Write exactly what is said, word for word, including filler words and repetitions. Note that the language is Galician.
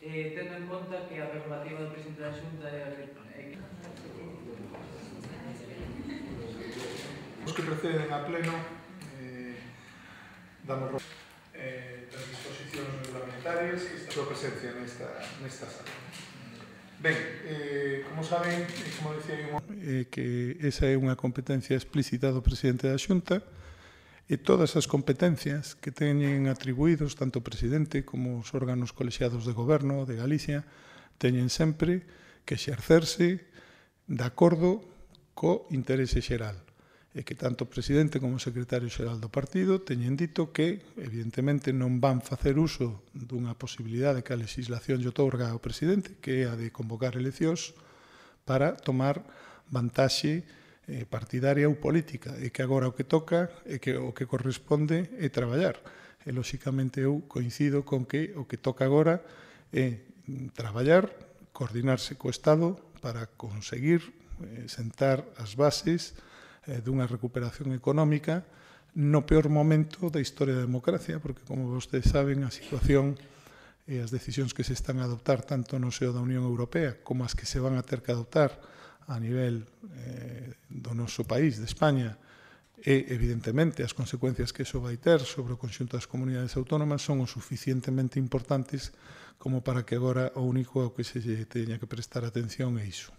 eh, tendo en conta que a prerrogativa do presidente da Xunta é a que... Os que proceden a pleno eh, damos eh, das disposicións reglamentarias que está a súa presencia nesta, nesta sala. Ben, eh, como saben, e como decía eu, eh, que esa é unha competencia explícita do presidente da Xunta e todas as competencias que teñen atribuídos tanto o presidente como os órganos colexiados de goberno de Galicia teñen sempre que exercerse de acordo co interese xeral e que tanto o presidente como o secretario xeral do partido teñen dito que, evidentemente, non van facer uso dunha posibilidade que a legislación lle outorga ao presidente, que é a de convocar eleccións para tomar vantaxe eh, partidaria ou política, e que agora o que toca e que o que corresponde é traballar. E, lóxicamente, eu coincido con que o que toca agora é traballar, coordinarse co Estado para conseguir eh, sentar as bases dunha recuperación económica no peor momento da historia da democracia, porque, como vostedes saben, a situación e as decisións que se están a adoptar tanto no seo da Unión Europea como as que se van a ter que adoptar a nivel eh, do noso país, de España, e, evidentemente, as consecuencias que iso vai ter sobre o conxunto das comunidades autónomas son o suficientemente importantes como para que agora o único ao que se teña que prestar atención é iso.